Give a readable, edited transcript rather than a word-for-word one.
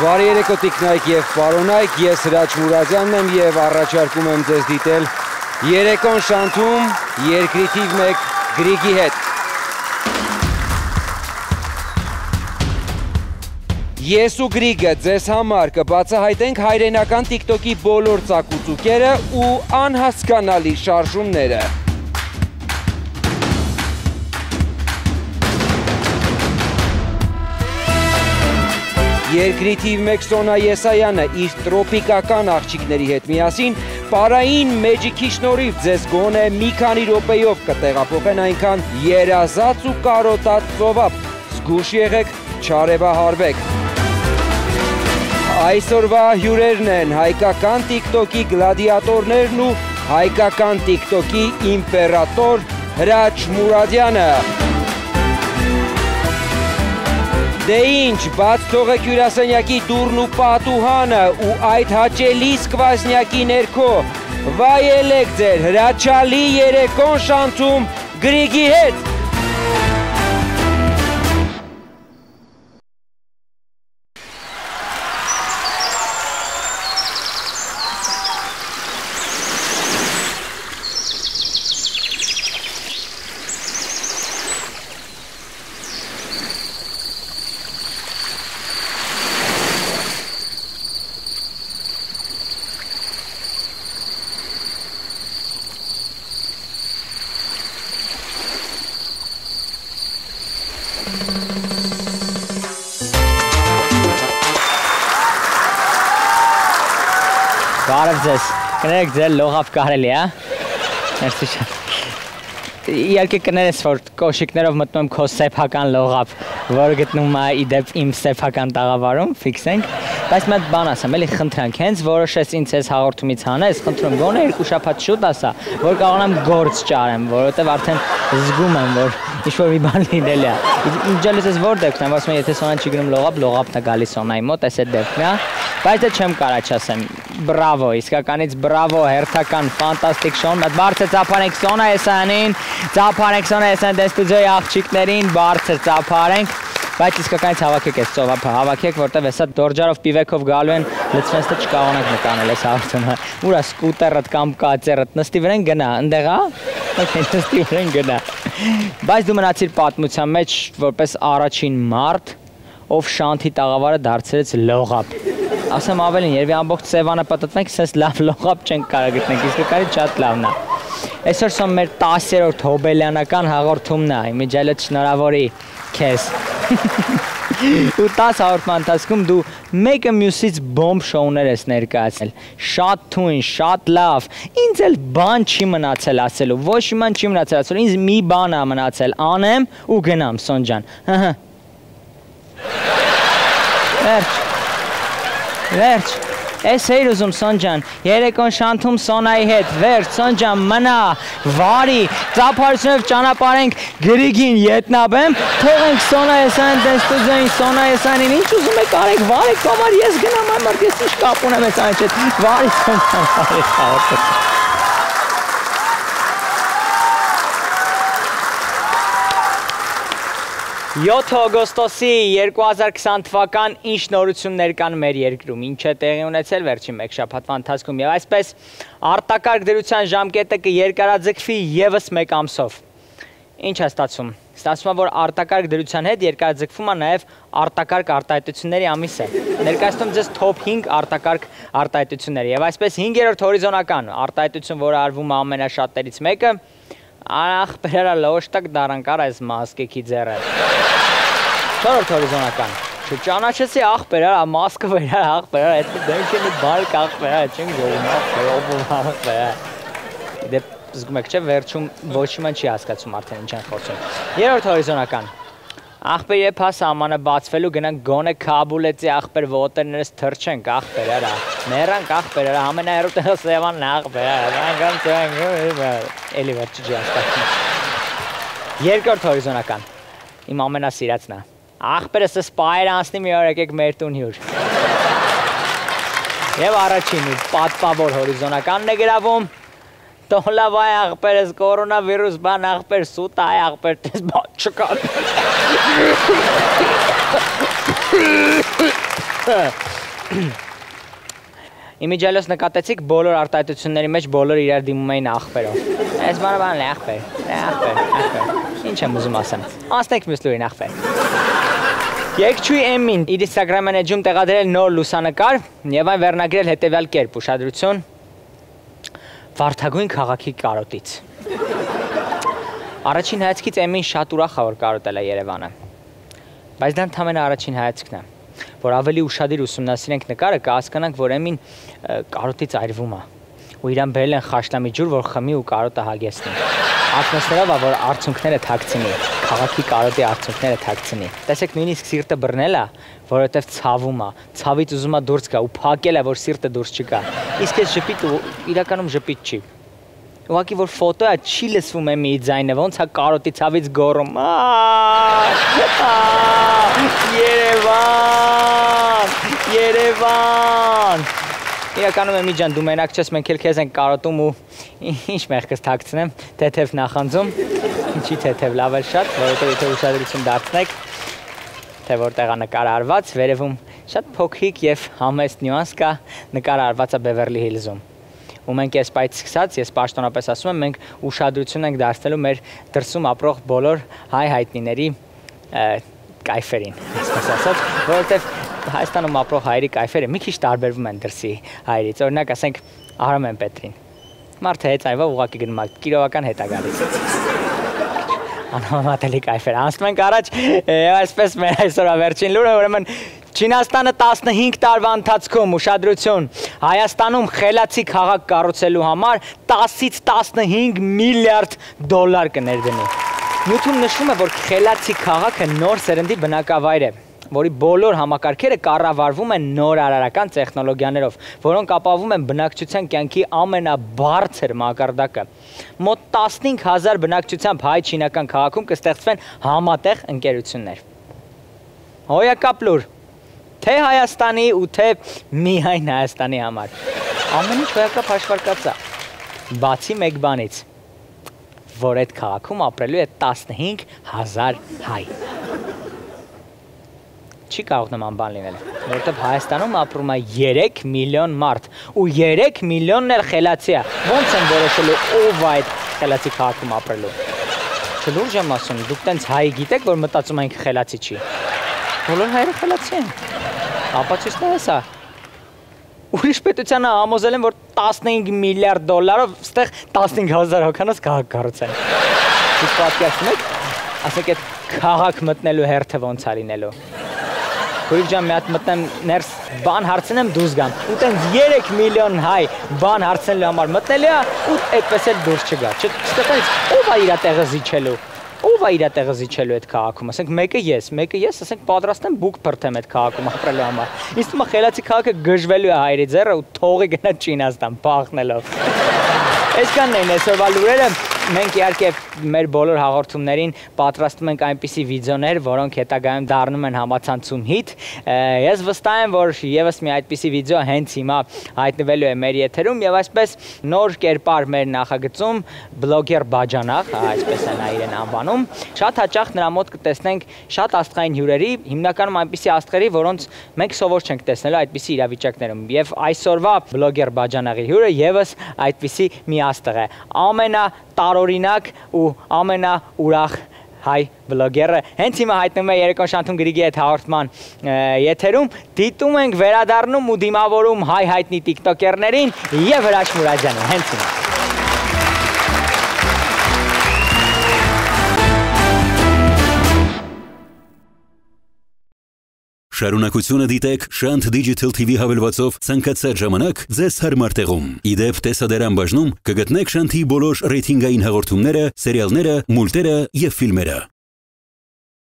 Բարի երեկո տիկնայք և պարոնայք, ես Հրաչ Մուրադյանն եմ և առաջարկում եմ ձեզ դիտել երեկոն շանթում երկրի թիվ 1 Գրիգի հետ։ Ես ու Գրիգը ձեզ համար կբացահայտենք հայրենական տիկտոկի բոլոր ծակուցուկերը ու անհասկանալի շարժումները։ Երկրի թիվ 1 Սոնա Եսայանը իր տրոպիկական աղջիկների հետ միասին պարային մեջիքի շնորհիվ ձեզ գոնե մի քանի րոպեով կտեղափոխեն այնքան երազած ու կարոտած ծովափ։ Զգույշ եղեք, չարևահարվեք։ Այսօրվա հյուրերն են հայկական տիկտոկի գլադիատորներն ու հայկական տիկտոկի իմպերատոր Հրաչ Մուրադյանը։ Դե ինչ, բաց թողեք հյուրասենյակի դուռն ու պատուհանը ու այդ հաճելի սկվազնյակի ներքո վայելեք ձեր հրաչալի երեկոն շանթում Գրիգի հետ։ Բարև ձեզ, կներեք ձեր լողավ կարելի, Ներսի շատ։ Իհարկե կներես, որ կոշիկներով մտնում եմ քո սեփական լողավ, որը գտնում է իդեպ իմ սեփական տաղավարում, ֆիքսենք, բայց մի հատ բան ասեմ, էլի խնդրանք, հենց որոշես ինձ ես հաղորդումից հանես, խնդրում գոնե 2 շաբաթ շուտ ասա, որ կարողանամ գործ ճարեմ, որովհետև արդեն զգում եմ, որ ինչ-որ մի բան լինել է։ Ջալիս ես որ դեպքն եմ, ասում եմ, եթե Սոնան չի գնում լողապ, լողապն է գալիս Սոնայի մոտ, այս է դեպքն է, բայց դե չեմ կարա չասեմ, բրավո, իսկականից բրավո, հերթական, ֆանտաստիկ շոուն, բարձր ծափարենք Սոնա Եսայանին, ծափարենք Սոնա Եսայան դե ստուդիոյի աղջիկներին, բարձր ծափարենք, բայց իսկականից հավաքեք այս ծովափը, հավաքեք, որտև հեսա դորջարով պիվեքով գալու են, լցվենց թե չկարողանանք նկանել այս հաղորդումը, ուրա սկուտերըդ կամ կացերըդ, նստի վրեն գնա, ընդեղա, նստի վրեն գնա, բայց դու մնացիր պատմության մեջ, որպես առաջին մարդ, ով շանթի տաղավարը դարձրեց լողապ, ասեմ ավելին, երևի ամբողջ Սևանը պատտվենք, սենց լավ լողապ չենք կարա գտնենք, իսկականից շատ լավն է, այսօր սոն մեր 10-րդ հոբելյանական հաղորդումն է, իմիջայլոտ շնորհավորի քեզ ու 10 հաղորդման ընթացքում դու մեկը մյուսից բոմբ շոուներ ես ներկայացնել, շատ թույն, շատ լավ, ինձ էլ բան չի մնացել ասելու, ոչ մի բան չի մնացել ասելու, ինձ մի բան է մնացել, անեմ ու գնամ Սոն ջան, վերջ, ես էիր ուզում Սոն ջան, երեկոն շանթում Սոնայի հետ, վերջ, Սոն ջան, մնա, վարի, ծափարությունով ճանապարհենք Գրիգին ետնաբեմ, թողենք Սոնա Եսայան դեն ստուդիոյին Սոնա Եսայանին, ինչ ուզում եք արեք, վարեք կամար, ես գնամ այն մարդ, ես ինչ կապ ունեմ ես այն չետ, վարի Սոն ջան, վարի խաղորդը։ 7 օգոստոսի 2020 թվական ինչ նորություններ կան մեր երկրում, ինչ է տեղի ունեցել վերջին մեկ շաբաթվա ընթացքում եւ այսպես արտակարգ դրության ժամկետը կերկարաձգվի եւս մեկ ամսով։ Ինչ է ստացվում։ Ստացվում է, որ արտակարգ դրության հետ երկարաձգվում է նաեւ արտակարգ արտահայտությունների ամիսը։ Ներկայացնում ձեզ top 5 արտակարգ արտահայտությունները եւ այսպես 5-րդ հորիզոնական արտահայտություն, որը արվում է ամենաշատերից մեկը, ախ, բերարա լոշտակ դարանկար այս մասկեքի ձերը։ Չորրորդ հորիզոնական։ Չճանաչեցի ախ բերարա, մասկը բերարա, ախ բերարա, այդ դենք է մի բարկ ախ բերարա, չենք գողում ախ բերարա։ Դե զգում եք չէ, վերջում ոչ մի չի հասկացում արդեն ինչ են խոսում։ Երրորդ հորիզոնական։ Ախպեր երբ հա սահմանը բացվելու գնանք գոնե Քաբուլեցի ախպեր ոտերներս թրջենք ախպեր արա, մեռանք ախպեր արա, ամենահեռու տեղը Սևանն է ախպեր արա, էլի վերջի չի հասկացնում։ Երկրորդ հորիզոնական, իմ ամենասիրածն է, ախպերս սպայր անցնի մի օր եկեք մեր տուն հյուր։ Եվ առաջին ու պատպավոր հորիզոնականն է գրավում, տոլավայ ախպերս կորոնավիրուս բան ախպեր սուտ այ ախպեր տես բան չկան։ Իմիջիալոս նկատեցիք բոլոր արտահայտությունների մեջ բոլոր իրար դիմում էին աղբերով։ Այս բանավանն է աղբեր։ Ինչ եմ ուզում ասեմ։ Անցնենք մյուս լուրին աղբեր։ Երգչուհի Էմին իր Instagram-ն էջում տեղադրել նոր լուսանկար եւ այն վերնագրել հետեւյալ կերպ՝ ուշադրություն Վարդագույն քաղաքի կարոտից։ Առաջին հայացքից Էմին շատ ուրախ է որ կարոտել է Երևանը։ Բայց դա ընդամենը առաջին հայացքն է։ Որ ավելի ուշադիր ուսումնասիրենք նկարը, կհասկանանք, որ Էմին կարոտից այրվում է։ Ու իրան բերել են խաշլամի ջուր, որ խմի ու կարոտը հագեցնի։ Ակնոցներով է, որ արցունքները թաքցնի, քաղաքի կարոտի արցունքները թաքցնի։ Տեսեք, նույնիսկ սիրտը բռնել է, որովհետև ցավում է, ցավից ուզում է դուրս գա ու փակել է, որ սիրտը դուրս չգա։ Իսկ այս ժպիտ իրականում ժպիտ չի։ Ուղղակի որ ֆոտո է, չի լսվում է մի ձայնը, ոնց է կարոտի ցավից գոռում։ Երևան։ Իրականում Էմի ջան, դու մենակ չես, մենք էլ քեզ ենք կարոտում ու ինչ մեղքս թաքցնեմ, թեթև նախանձում, ինչի թեթև լավ էլ շատ, որովհետև եթե ուշադրություն դարձնեք, թե որտեղ է նկարը արված, վերևում շատ փոքրիկ եւ համեստ նյուանս կա, նկարը արված է Բևերլի Հիլզում։ Ու մենք այս պայից սկսած, ես պաշտոնապես ասում եմ, մենք ուշադրություն ենք դարձնելու մեր դրսում ապրող բոլոր հայ հայտնիների կայֆերին, այսպես ասած, որովհետև Հայաստանում ապրող հայերի կայֆերը մի քիչ տարբերվում են դրսի հայերից, օրինակ ասենք Արամեն Պետրին։ Մարդը հեծայվա ուղղակի գնում է, կիրովական հետ է գալիս։ Անհամատելի կայֆեր, անցնում ենք առաջ, այսպես մեր այսօրվա վերջին լուրը, ուրեմն Չինաստանը 15 տարվա ընթացքում ուշադրություն Հայաստանում խելացի քաղաք կառուցելու համար 10-ից 15 միլիարդ դոլար կներդնի։ Նյութում նշվում է, որ խելացի քաղաքը նոր սերնդի բնակավայր է, որի բոլոր համակարգերը կառավարվում են նոր արարական տեխնոլոգիաներով, որոնք ապահովում են բնակչության կյանքի ամենաբարձր մակարդակը։ Մոտ 15,000 բնակչությամբ հայ-չինական քաղաքում կստեղծվեն համատեղ ընկերություններ։ Հոյակապ լուր, թե Հայաստանի ու թե միայն Հայաստանի համար։ Ամեն ինչ հոյակապ հաշվարկած է, բացի մեկ բանից, որ այդ քաղաքում ապրելու է 15,000 հայ։ Չի կարող նման բան լինել, որովհետև Հայաստանում ապրում է 3 միլիոն մարդ, ու 3 միլիոնն էլ խելացի է, ոնց են որոշելու ով այդ խելացի քաղաքում ապրելու։ Չլուրջ եմ ասում, դուք տենց հայ գիտեք, որ մտածում ենք խելացի չի։ Բոլոր հայերը խելացի են, ապացույցն է հեսա։ Ուրիշ պետությանը համոզել են, որ 15 միլիարդ դոլարով ստեղ 15,000 հոգանոց քաղաք կառուցեն։ Դուք պատկերացնում եք, ասեք այդ քաղաք մտնելու հերթը ոնց է լինելու։ Քույր ջան, մի հատ մտնեմ ներս բան հարցնեմ դուրս գամ։ Ու տենց 3 միլիոն հայ բան հարցնելու համար մտնելի է ու այդպես էլ դուրս չգա։ Չստեղծից ով է իր տեղը զիջելու։ Ով է իր տեղը զիջելու այդ քաղաքում։ Ասենք մեկը ես, ասենք պատրաստ եմ բուկ փրթեմ այդ քաղաքում ապրելու համար։ Ինձ թվում է խելացի քաղաքը գժվելու է հայերի ձեռը ու թողի գնա Չինաստան փախնելով։ Այսքանն են այսօրվա լուրերը։ Մենք իհարկե մեր բոլոր հաղորդումներին պատրաստում ենք այնպիսի վիդեոներ, որոնք հետագայում դառնում են համացանցում հիթ։ Ես վստահ եմ, որ եւս մի այդպիսի վիդեո հենց հիմա հայտնվելու է մեր եթերում եւ այսպես նոր կերպար մեր նախագծում բլոգեր Բաջանախ, այսպես է նա իրեն անվանում, շատ հաճախ նրա մոտ կտեսնենք շատ աստղային հյուրերի, հիմնականում այնպիսի աստղերի, որոնց մենք սովոր չենք տեսնելու այդպիսի իրավիճակներում։ Եվ այսօրվա բլոգեր Բաջանախի հյուրը եւս այդպիսի մի աստղ է։ Տարօրինակ ու ամենաուրախ հայ բլոգերը հենց հիմա հայտնվում է Երեկոն Շանթում Գրիգի հետ հաղորդման եթերում, դիտում ենք, վերադառնում ու դիմավորում հայ հայտնի տիկտոկերներին եւ Հրաչ Մուրադյանին, հենց հիմա։ Շարունակությունը դիտեք Շանթ Digital TV հավելվածով ցանկացած ժամանակ ձեզ հարմար տեղում։ Իդեպ տեսադարան բաժնում կգտնեք Շանթի բոլոր ռեյթինգային հաղորդումները, սերիալները, մուլտերը եւ ֆիլմերը։